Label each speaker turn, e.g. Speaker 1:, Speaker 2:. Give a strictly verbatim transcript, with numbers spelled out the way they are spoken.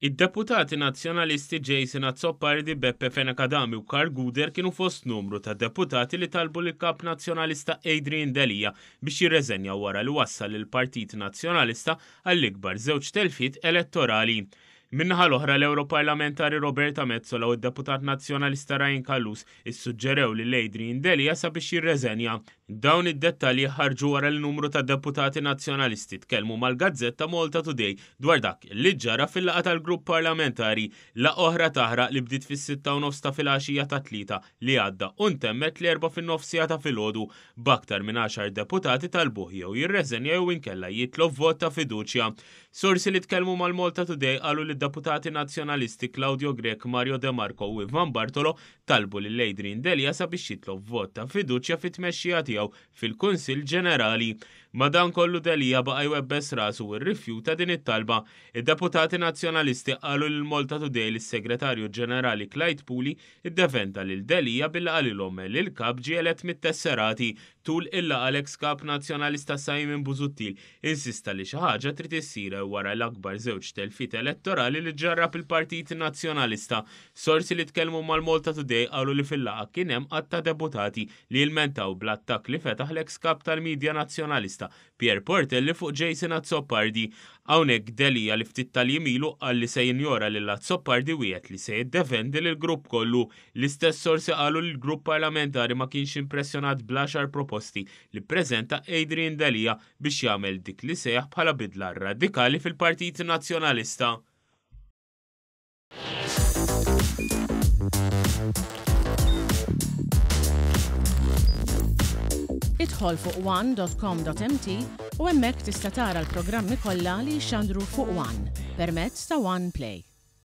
Speaker 1: Id-deputati Nazzjonalisti Jason Azzopardi, Beppe Fenech Adami u Karl Gouder kienu fost numru ta' deputati li talbu lill-Kap Nazzjonalista Adrian Delia biex jirreżenja wara li wassal lill-Partit Nazzjonalista għall-ikbar żewġ telfiet elettorali. Min-naħa l-oħra, l-Europarlamentari Roberta Metsola u d-deputat Nazzjonalista Ryan Callus issuġġerew lil Adrian Delia sabiex jirreżenja. Dawn id-dettalji ħarġu wara li numru ta' deputati Nazzjonalisti tkellmu mal-gazzetta Malta Today dwar dak li ġara fil-laqgħa tal-grupp parlamentari, laqgħa oħra taħraq li bdiet fis-sitta u nofs ta' filgħaxija tat-Tlieta li għadda u ntemmet l-Erbgħa fin-nofsija ta' filgħodu, b'aktar minn għaxar deputati talbuh jew jirreżenja jew inkella jitlob vot ta' fiduċja. Sorsi li tkellmu mal-Malta Today qalu li deputati Nazzjonalisti Claudio Grech, Mario De Marco u Ivan Bartolo talbu lil Adrian Delia sabiex jitlob vot ta' fiduċja fit-tmexxija tiegħu fil-Kunsill Ġenerali. Madankollu, Delia baqa' jwebbes rasu u rrifjuta din it-talba. Id-deputati Nazzjonalisti qalu lil Malta Today li s-Segretarju Ġenerali Clyde Puli iddefenda lil Delia billi qalilhom li l-kap ġie elett mit-tesserati. Tul il-laqgħa, l-ex kap Nazzjonalista Simon Busuttil insista li xi ħaġa trid issir wara l-akbar żewġ telfiet elettorali li ġarrab il-Partit Nazzjonalista. Sorsi li tkellmu mal-Malta Today qalu li fil-laqgħa kien hemm għadd ta' deputati li ilmentaw bl-attakk li fetaħ l-ex kap tal-medja Nazzjonalista Pierre Portelli fuq Jason Azzopardi. Hawnhekk Delia, li ftit tal-jiem ilu qal li se jinjora lil Azzopardi, wiegħed li se jiddefendi lil grupp kollu. L-istess sorsi qalu li l-grupp parlamentari ma kienx impressjonat bl-għaxar proposti li ppreżenta Adrian Delia biex jagħmel dik li sejjaħ bħala bidla radikali fil-Partit Nazzjonalista.
Speaker 2: Idħol fuq one dot com dot M T u hemmhekk tista' tara l-programmi kollha li jxandru fuq One permezz ta' One Play.